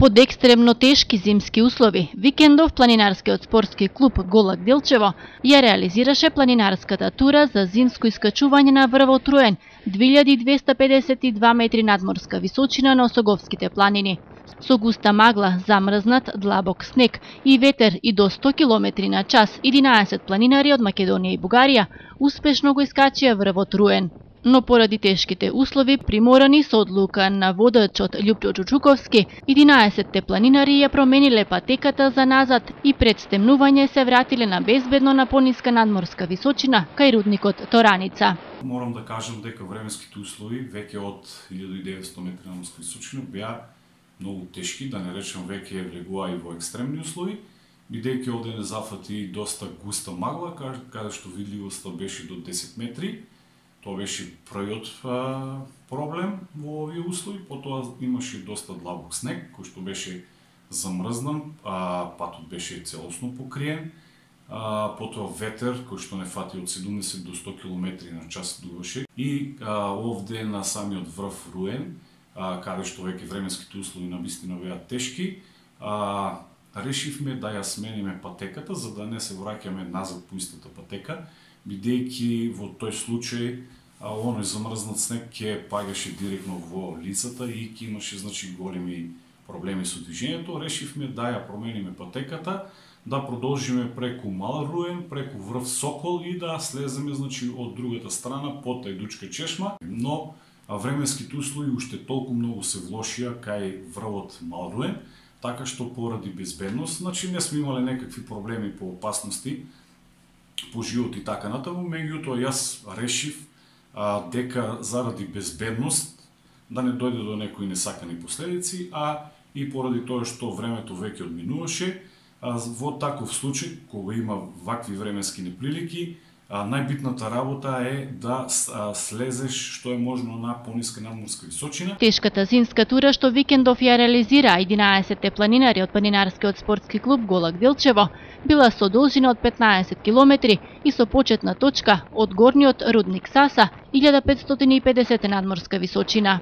Под екстремно тешки зимски услови, викендов планинарскиот спортски клуб Голак Делчево ја реализираше планинарската тура за зимско искачување на врвот Руен, 2252 метри надморска височина на Осоговските планини. Со густа магла, замрзнат, длабок снег и ветер и до 100 км на час, 11 планинари од Македонија и Бугарија успешно го искачија врвот Руен. Но поради тешките услови, приморани со одлука на водачот Љупчо Чучуковски, 11 планинари ја промениле патеката за назад и пред стемнување се вратиле на безбедно на пониска надморска височина кај рудникот Тораница. Морам да кажам дека временските услови веќе од 1900 метри надморска височина беа многу тешки, да не речем веќе влегува и во екстремни услови, бидејќи овде не зафати доста густа магла, каде што видливоста беше до 10 метри. Тоа беше првиот проблем во овие услови, потоа имаше доста длабок снег, кој што беше замрзнан, патот беше целосно покриен, потоа ветер, кој што не фати од 70 до 100 км на час дуваше, и овде на самиот врв Руен, каде што веќе временските услови навистина беа тешки, решивме да ја смениме патеката, за да не се враќаме назад по истата патека, бидејќи во тој случај оној замрзнат снег ќе паѓаше директно во лицата и ќе имаше големи проблеми со движењето. Решивме да ја промениме патеката, да продолжиме преку Мал Руен, преку врв Сокол и да слеземе од другата страна по Тајдучка чешма, но временските услови уште толку многу се влошија кај врвот Мал Руен, така што поради безбедност, не сме имале некакви проблеми по опасности по живот и така натаму, меѓутоа јас решив дека заради безбедност да не дојде до некои несакани последици, и поради тоа што времето веќе одминуваше, во таков случај, кога има вакви временски неприлики, најбитната работа е да слезеш што е можно на пониска надморска височина. Тешката зимска тура што викендов ја реализира 11 планинари од планинарскиот спортски клуб Голак Делчево била со должина од 15 км и со почетна точка од горниот рудник Саса, 1550 надморска височина.